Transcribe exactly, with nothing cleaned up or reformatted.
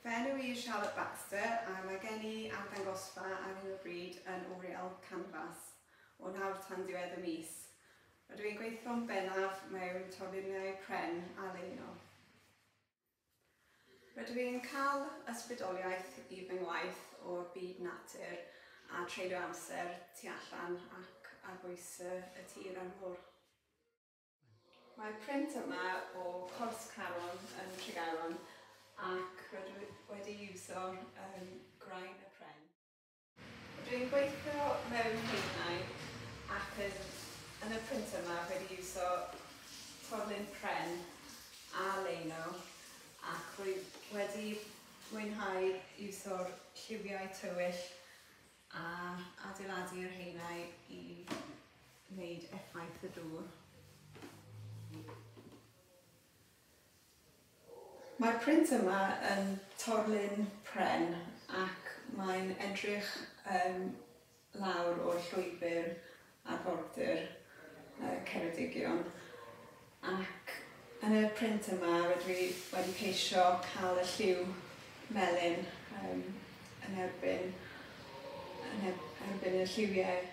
Fy enw i yw Charlotte Baxter a mae gen i arddangosfa ar hyn o bryd yn Oriel Canvas o nawr tan diwedd y mis. Rydw i'n gweithio'n bennaf mewn torluniau pren a leino. Rydw i'n cael ysbrydoliaeth i fy ngwaith o'r byd natur a treulio amser tu allan ac ar bwys y tir a'r môr. Mae'r print yma o Cors Caron yn Tregaron ac rydw i wedi iwso um, graen y pren. Rydw i'n gweithio mewn haenau ac yn, yn y print yma wedi iwso torlun pren a leino ac rwy wedi mwynhau iwso'r lliwiau tywyll a adeiladu'r haenau i wneud effaith y dŵr. Mae'r print yma yn torlun pren ac mae'n edrych um, lawr o'r llwybr arfordir uh, Ceredigion, ac yn y print yma rydw i wedi ceisio cael y lliw melyn um, yn erbyn, yn erbyn y lliwiau